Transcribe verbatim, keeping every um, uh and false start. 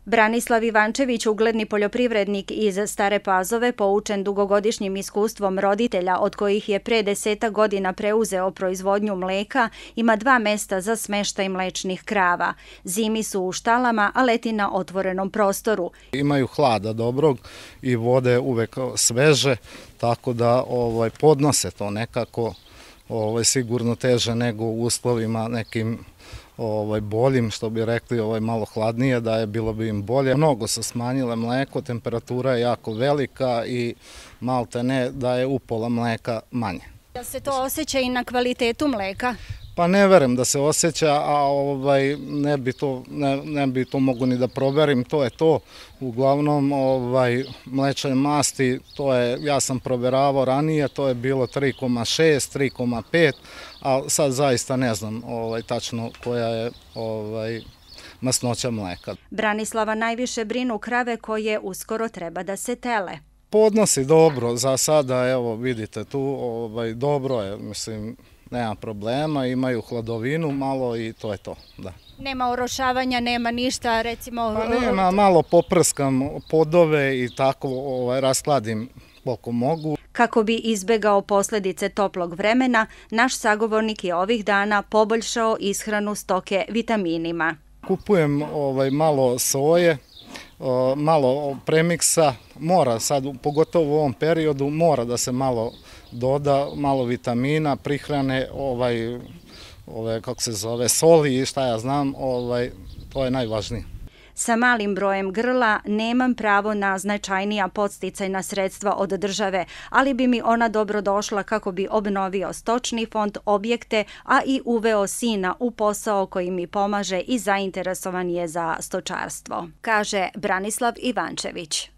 Branislav Ivančević, ugledni poljoprivrednik iz Stare Pazove, poučen dugogodišnjim iskustvom roditelja od kojih je pre deseta godina preuzeo proizvodnju mleka, ima dva mesta za smeštaj mlečnih krava. Zimi su u štalama, a leti na otvorenom prostoru. Imaju hlada dobrog i vode uvek sveže, tako da ovaj, podnose to nekako ovaj, sigurno teže nego u uslovima nekim ovaj, boljim, što bi rekli ovaj, malo hladnije, da je bilo bi im bolje. Mnogo su smanjile mleko, temperatura je jako velika i malte ne da je upola mleka manje. Da se to osjeća i na kvalitetu mleka? Pa ne verujem da se osjeća, a ovaj, ne bi to, ne, ne bi to mogu ni da proverim, to je to. Uglavnom, ovaj, mlečne masti, to je, ja sam proveravao ranije, to je bilo tri zarez šest, tri zarez pet, a sad zaista ne znam ovaj, tačno koja je ovaj, masnoća mleka. Branislava najviše brinu krave koje uskoro treba da se tele. Podnosi dobro, za sada, evo vidite tu, ovaj, dobro je, mislim, nema problema, imaju hladovinu malo i to je to, da. Nema orošavanja, nema ništa, recimo... Pa nema, malo poprskam podove i tako ovaj, raskladim koliko mogu. Kako bi izbegao posljedice toplog vremena, naš sagovornik je ovih dana poboljšao ishranu stoke vitaminima. Kupujem ovaj, malo soje, malo premiksa, mora sad, pogotovo u ovom periodu, mora da se malo doda, malo vitamina, prihrane, ovaj, ove, kako se zove, soli i šta ja znam, ovaj, to je najvažnije. Sa malim brojem grla nemam pravo na značajnija podsticajna sredstva od države, ali bi mi ona dobro došla kako bi obnovio stočni fond, objekte, a i uveo sina u posao koji mi pomaže i zainteresovan je za stočarstvo, kaže Branislav Ivančević.